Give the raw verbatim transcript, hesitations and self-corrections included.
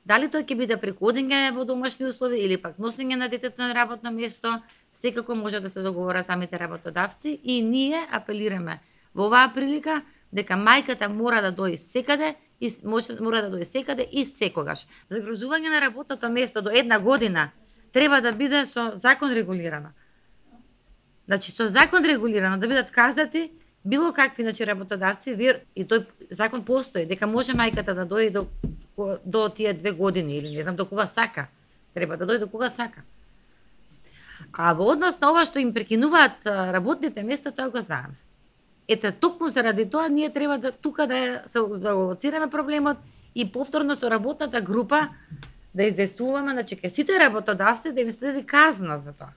Дали тој ќе биде преку одење во домашни услови или пак носење на детето на работно место, секако може да се договора самите работодавци и ние апелираме во оваа прилика дека мајката мора да дои секаде и може мора да дои секаде и секогаш. Загрозување на работното место до една година треба да биде со закон регулирано. Значи со закон регулирано да бидат казати било какви значи работодавци и тој закон постои дека може мајката да дои до до тие две години или не знам до кога сака. Треба да дојде до кога сака. А во однос на ова што им прекинуваат работните места, тоа го знаеме. Ете, токму заради тоа ние треба да тука да се да го лоцираме проблемот и повторно со работната група да изјаснуваме, значи ке сите работодавци да им следи казна за тоа.